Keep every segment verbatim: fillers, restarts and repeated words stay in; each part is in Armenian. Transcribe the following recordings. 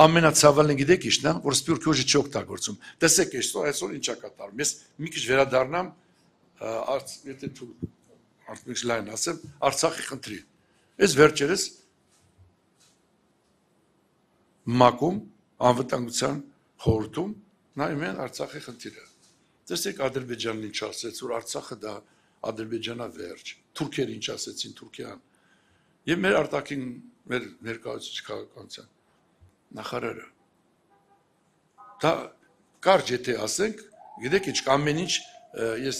ամենացավալին գիտեք իշն է, որ սպյուրքի ուժը չի օգտագործում։ Տեսեք այսօր, այսօր ինչ է կատարում։ Ես մի քիչ վերադառնամ, եթե դու արդյոք լայն ասեմ, Արցախի խնդրի։ Այս վերջերս մակում անվտանգության խորհրդում նայում են Արցախի խնդիրը։ Տեսեք Ադրբեջանն ինչ ասեց, որ Արցախը դա Ադրբեջանա վերջ, թուրքերը ինչ ասեցին Թուրքիան։ Եվ մեր արտաքին մեր ներկայացուցիչ քաղաքականության նախարարը։ Դա կարճ եթե ասենք, գիտեք ինչ ամեն ինչ ես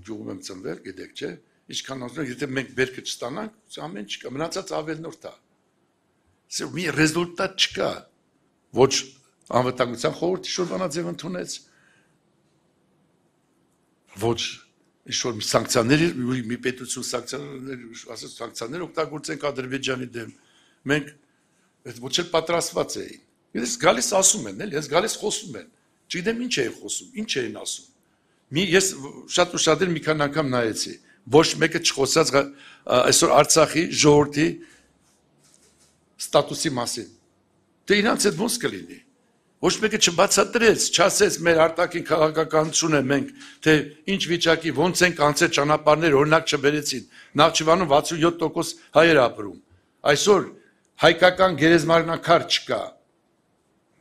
գյուղում եմ ծնվել, գիտեք չէ, ինչքան ասում եթե մենք բերքը չստանանք, ամեն ինչ կա, մնացած ավելնորդ է։ Սա մի ռեզուլտատ չկա։ Ոչ անվտանգության խորհրդի շրջանաձև ընդունեց, ոչ ինչ-որ սանկցիաներ, մի պետություն սանկցիաներ, ասած սանկցիաներ օգտագործենք Ադրբեջանի դեմ։ Մենք ոչ էլ պատրաստված էին։ Ես գալիս ասում են, էլի, ես գալիս խոսում են։ Չգիտեմ ինչ էին խոսում, ինչ էին ասում։ Մի ես շատ ու շատ մի քանի անգամ նայեցի, ոչ մեկը չխոսած այսօր Արցախի ժողովրդի ստատուսի մասին։ Դե իրանց այդ ոնց կլինի։ Ոչ մեկը չբացատրեց, չասեց մեր արտաքին քաղաքականությունը մենք, թե ինչ վիճակի, ոնց են կանցել ճանապարհներ, օրինակ չբերեցին։ Նախճիվանում վաթսունյոթ տոկոս հայեր ապրում։ Այսօր հայկական գերեզմարնակար չկա։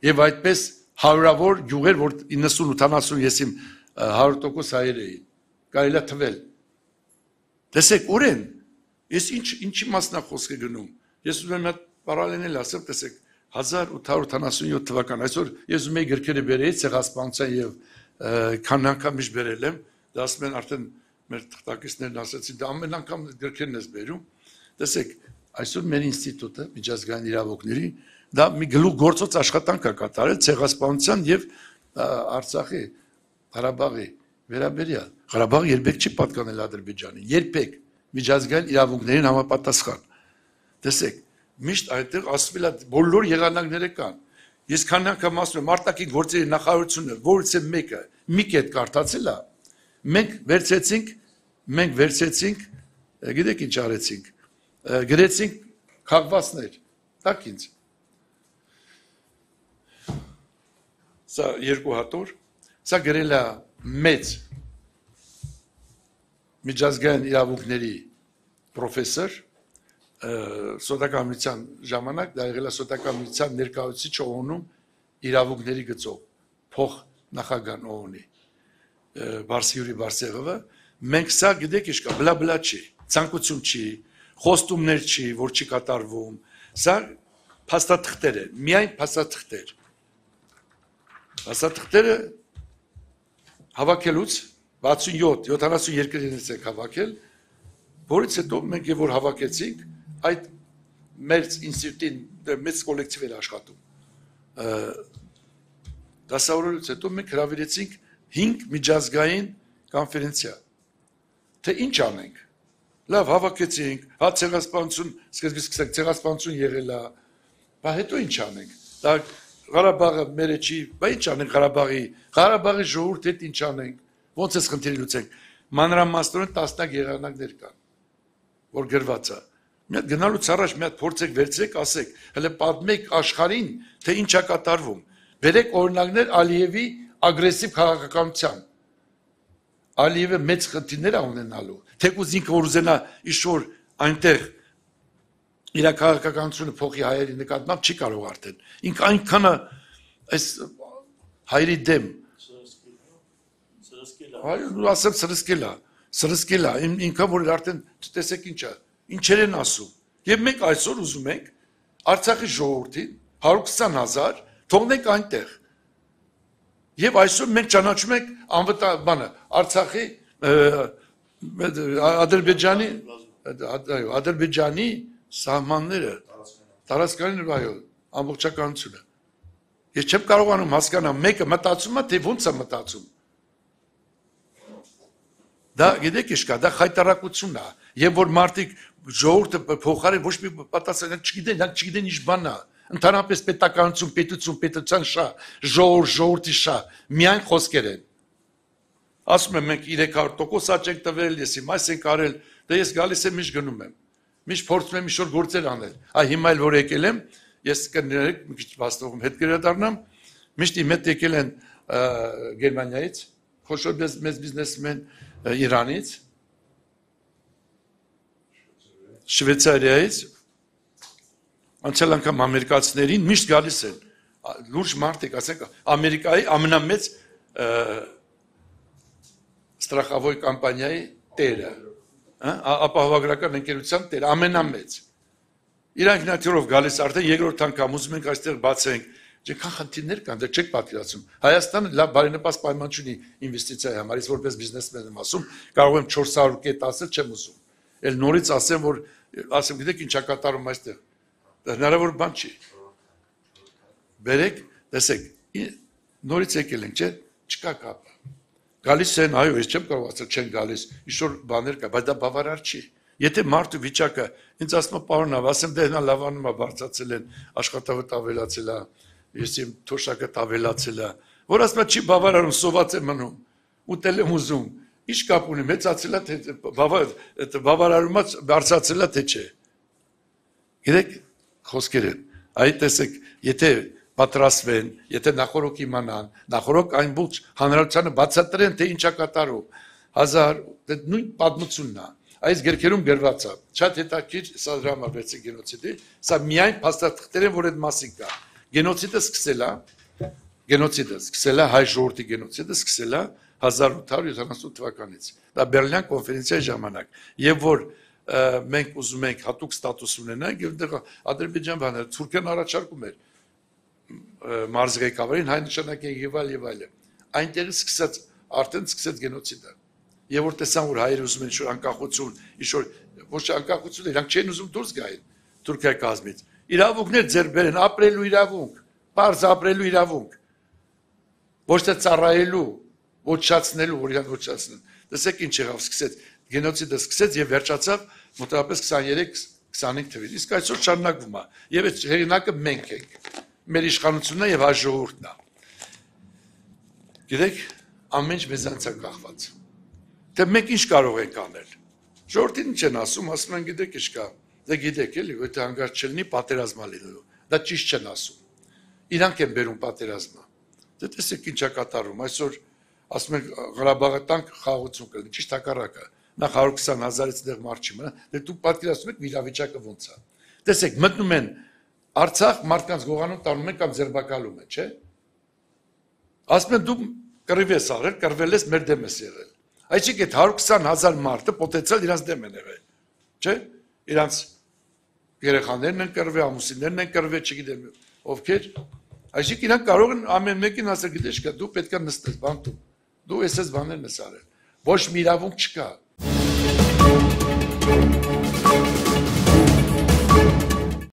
Եվ այդպես հարյուրավոր գյուղեր, որ իննսուն ութանասուն եսիմ հարյուր տոկոս հայեր էին։ Կարելի է թվել։ Տեսեք, ուր են։ Ես ինչ ինչի մասնա խոսքը գնում։ Ես ուզում եմ պարալելել ասեմ, տեսեք, հազար ութ հարյուր ութանասունյոթ թվական, այսօր ես ուզում եի գրքերը բերեի ցեղասպանության եւ քան անգամ իշ բերել եմ, դա ասում են արդեն մեր թղթակիցներն ասացին, դա ամեն անգամ գրքերն ես բերում։ Տեսեք, այսօր մեր ինստիտուտը միջազգային իրավունքների դա մի գլուխ գործոց աշխատանք է կատարել ցեղասպանության եւ Արցախի Ղարաբաղի վերաբերյալ։ Ղարաբաղը երբեք չի պատկանել Ադրբեջանին, երբեք միջազգային իրավունքներին համապատասխան։ Տեսեք, միշտ այդտեղ ասվել է բոլոր եղանակները կան։ Ես քան անգամ ասում եմ արտաքին գործերի նախարարությունը, որից է մեկը մի կետ կարդացել է, մենք վերցեցինք, մենք վերցեցինք, գիտեք ինչ արեցինք, գրեցինք քաղվածներ, տակ ինձ։ Սա երկու հատոր, սա գրել է մեծ միջազգային իրավունքների պրոֆեսոր սոտականության ժամանակ դա եղել է սոտականության ներկայացուցիչ օ-ն-ում իրավունքների գծով փոխ նախագահ օ-նի Բարսիյուրի Բարսեղովը մենք սա գիտեք ինչ կա բլա-բլա չի ցանկություն չի խոստումներ չի որ չի կատարվում սա փաստաթղթեր են միայն փաստաթղթեր փաստաթղթերը հավաքելուց վաթսունյոթ յոթանասունյոթ ենք հավաքել որից հետո մենք եւ որ հավաքեցինք այդ մեր ինստիտուտին մեծ կոլեկտիվ էր աշխատում դասավորելուց հետո մենք հրավիրեցինք հինգ միջազգային կոնֆերենցիա թե ինչ անենք լավ հավաքեցինք հա ցեղասպանություն սկսեցինք ցեղասպանություն եղել է բա հետո ինչ անենք դա Ղարաբաղը մերը չի բա ինչ անենք Ղարաբաղի Ղարաբաղի ժողովուրդի հետ ինչ անենք ոնց էս խնդիրը լուծենք մանրամասնորեն տասնյակ եղանակներ կան որ գրված է մի հատ գնալուց առաջ մի հատ փորձեք վերցրեք ասեք հələ պատմեք աշխարհին թե ինչ է կատարվում բերեք օրինակներ Ալիևի ագրեսիվ քաղաքականության Ալիևը մեծ խնդիրներ է ունենալու թեկուզ ինքը որ ուզենա ինչ-որ այնտեղ իր քաղաքականությունը փոխի հայերի նկատմամբ չի կարող արդեն ինքը այնքան այս հայերի դեմ Այո, ասեմ սրսկել է, սրսկել է, ինքը որ արդեն տեսեք ինչ է, ինչեր են ասում։ Եվ մենք այսօր ուզում ենք Արցախի ժողովրդին հարյուր քսան հազար թողնենք այնտեղ։ Եվ այսօր մենք ճանաչում ենք անվտանգ բանը Արցախի Ադրբեջանի այո, Ադրբեջանի սահմանները, տարածքային այո, ամբողջականությունը։ Ես չեմ կարողանում հասկանալ, մեկը մտածում է, թե ո՞նց է մտածում։ Դա գիտեք ինչ կա, դա խայտարակություն է, եւ որ մարդիկ ժողովուրդը փոխարեն ոչ մի պատասխան չգիտեն, նրանք չգիտեն ինչ բան է, ընդհանրապես պետականություն, պետություն, պետության շա, ժողովուրդ, ժողովրդի շա, միայն խոսքեր են։ Ասում եմ մենք երեք հարյուր տոկոս աճ ենք տվել, ես հիմա այս ենք արել, դա ես գալիս եմ միշտ գնում եմ։ Միշտ փորձում եմ ինչ-որ գործեր անել։ Այ հիմա էլ որ եկել եմ, ես կներեք մի քիչ վաստողում հետ կրադառնամ, միշտ իմ հետ եկել են Գերմանիայից, խոշոր մեծ բիզնեսմեն Իրանից, Շվեյցարիայից, անցյալ անգամ ամերիկացիներին միշտ գալիս են, լուրջ մարդիկ, ասենք Ամերիկայի ամենամեծ ստրախավոր կամպանիայի տերը, ապահովագրական ընկերության տերը, ամենամեծ։ Իրանք նատյուրով գալիս արդեն երկրորդ անգամ ուզում ենք այստեղ բացենք, չքան խնդիրներ կան, դեռ չեք պատկերացնում։ Հայաստանը լավ բարենպաստ պայման չունի ինվեստիցիայի համար, ես որպես բիզնեսմեն եմ ասում, կարող եմ չորս հարյուր կետ ասել, չեմ ուզում։ Էլ նորից ասեմ, որ ասեմ, գիտեք ինչա կատարում այստեղ։ Հնարավոր բան չի։ Բերեք, տեսեք, նորից եկել ենք, չէ՞, չկա կապ։ Գալիս են, այո, ես չեմ կարող ասել, չեն գալիս, ինչ-որ բաներ կա, բայց դա բավարար չի։ Եթե մարդու վիճակը ինձ ասում է պարոն, ասեմ դե նա լավանում է, բարձրացել են, աշխատավտ ավելացել է, ես իմ թոշակը ավելացել է, որ ասում է չի բավարարում, սոված է մնում, ուտել եմ ուզում, ինչ կապ ունի, մեծացել է, թե բավարարումը բարձրացել է, թե չէ։ Գիտեք, խոսքեր են, այդ տեսեք, եթե պատրաստվեն, եթե նախորոք իմանան, նախորոք այն բուց հանրությանը բացատրեն, թե ինչա կատարում, հազար, նույն պատմությունն է, այս գրքերում գրված է, շատ հետաքրքիր սա դրամաբերցի գենոցիդի, սա միայն փաստաթղթեր են, որ այդ մասին կա։ Գենոցիդը սկսել է, գենոցիդը սկսել է, հայ ժողովրդի գենոցիդը սկսել է հազար ութ հարյուր յոթանասուն թվականից։ Դա Բերլին կոնֆերենցիայի ժամանակ, եւ որ մենք ուզում ենք հատուկ ստատուս ունենանք, եւ դեռ Ադրբեջան բանը Թուրքիան առաջարկում էր մարզի ղեկավարին հայ նշանակի եւ այլ եւ այլը։ Այնտեղ սկսած արդեն սկսեց գենոցիդը։ Եվ որ տեսան, որ հայերը ուզում են ինչ-որ անկախություն, ինչ-որ ոչ անկախություն, իրանք չեն ուզում դուրս գային Թուրքիայի կազմից։ Իրավունքներ ձեռք բերեն, ապրելու իրավունք, պարզ ապրելու իրավունք։ Ոչ թե ծառայելու, ոչնչացնելու, որ իրանք ոչնչացնեն։ Տեսեք ինչ եղավ, սկսեց գենոցիդը սկսեց եւ վերջացավ մոտավորապես քսաներեք քսանհինգ թվին։ Իսկ այսօր շարունակվում է։ Եվ այդ հեղինակը մենք ենք։ Մեր իշխանությունն է եւ հայ ժողովուրդն է։ Գիտեք, ամեն ինչ մեզանից է կախված։ Թե մենք ինչ կարող ենք անել։ Ժողովրդին ինչ են ասում, ասում են գիտեք ինչ կա։ Դե գիտեք էլի, եթե հանգարց չլինի պատերազմա լինելու։ Դա ճիշտ չեն ասում։ Իրանք են բերում պատերազմը։ Դե տեսեք ինչա կատարում։ Այսօր ասում են Ղարաբաղի տանք խաղաղություն կլինի, ճիշտ հակառակը։ Նախ հարյուր քսան հազարից դեռ մարդ չի մնա։ Դե դուք պատկերացնում եք իրավիճակը ոնց է։ Տեսեք, մտնում են Արցախ մարդկանց գողանում տանում են կամ ձերբակալում են, չէ՞։ Ասում են դու կռիվ ես արել, կռվել ես, մեր դեմ ես եղել։ Այսինքն այդ հարյուր քսան հազար մարդը պոտենցիալ իրանց դեմ են եղել, չէ՞։ Իրանց երեխաներն են կռվել, ամուսիններն են կռվել, չգիտեմ ովքեր։ Այսինքն իրանք կարող են ամեն մեկին ասել, գիտես չկա, դու պետք է նստես բանտում։ Դու էսես բաներն ես արել։ Ոչ մի իրավունք չկա։